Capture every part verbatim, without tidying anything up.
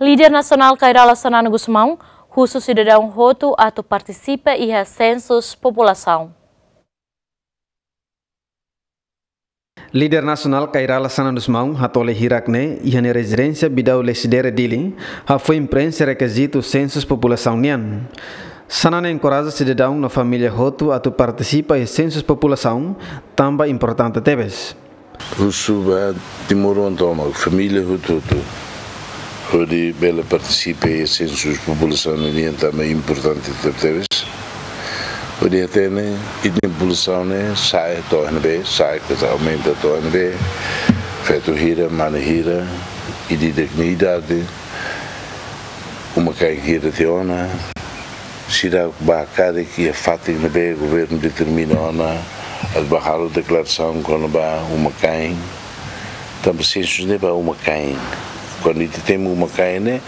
Líder nasionál Kay Rala Xanana Gusmão husu sidadaun hotu atu partisipa iha sensus populasaun. Líder nasionál Kay Rala Xanana Gusmão hatoli hirak ne'e iha nia rezidénsia Bidau Lecidere, Dili, hafoin preenxe rekizitu sensus populasaun nian. Xanana enkoraja sidadaun no família hotu atu partisipa iha sensus populasaun, tanba importante tebes. Husu ba timoroan tomak, família hotu-hotu, hodi bele partisipa iha sensus populasaun nian, tanba importante tebetebes. Hodi hatene ita-nia populasaun ne'e sa'e to'o iha ne'ebé, sa'e ka aumenta to'o iha ne'ebé, feto hira, mane hira, ida-idak nia idade, uma-kain hira tiha ona, sira bá karik iha fatin ne'ebé governu determina ona, atu bá halo deklarasaun kona-ba uma-kain. Tanba sensus ne'e ba uma-kain. Kuandu ita temi uma-kain ne'e,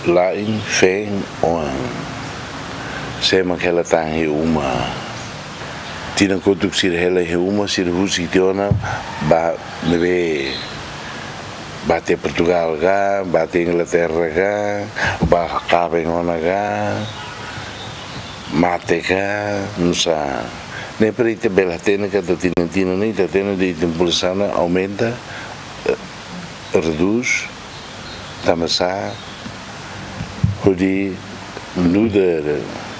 la'en, feen, oan. Sé mak hela tan iha uma. Tinan kotuk sira hela iha uma, sira husik tiha ona bá ne'ebé, bá tiha Portugal ka, bá tiha Inglaterra ka, bá kaben ona ka, mate ka, nusá. Ne'e para ita bele hatene katak tinan-tinan ne'e ita hatene de'it populasaun ne'e aumenta, eh, redús, tanba sá, hodi nu'udar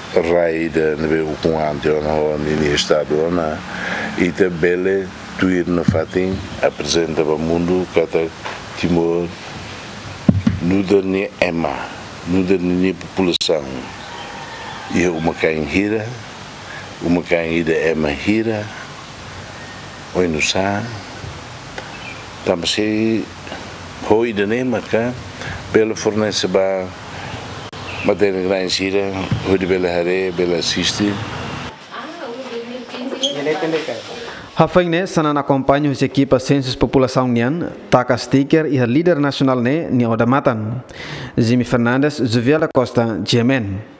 rai ida ne'ebé ukun-an tiha ona ho ninia estadu ona, ita bele tuir nafatin aprezenta ba mundu katak Timor nu'udar nia ema, nu'udar ninia populasaun, iha uma-kain hira, uma-kain ida ema hira, oinsá, tanba sá, ho ida-ne'e maka bele fornese ba matéria-na'in sira, hodi bele haree, bele asiste. Hafoin ne'e, Xanana akompaña husi ekipa sensus populasaun nian, taka stiker iha líder nasionál ne'e nia odamatan. Jimmy Fernandes, Juviela Costa, G M N.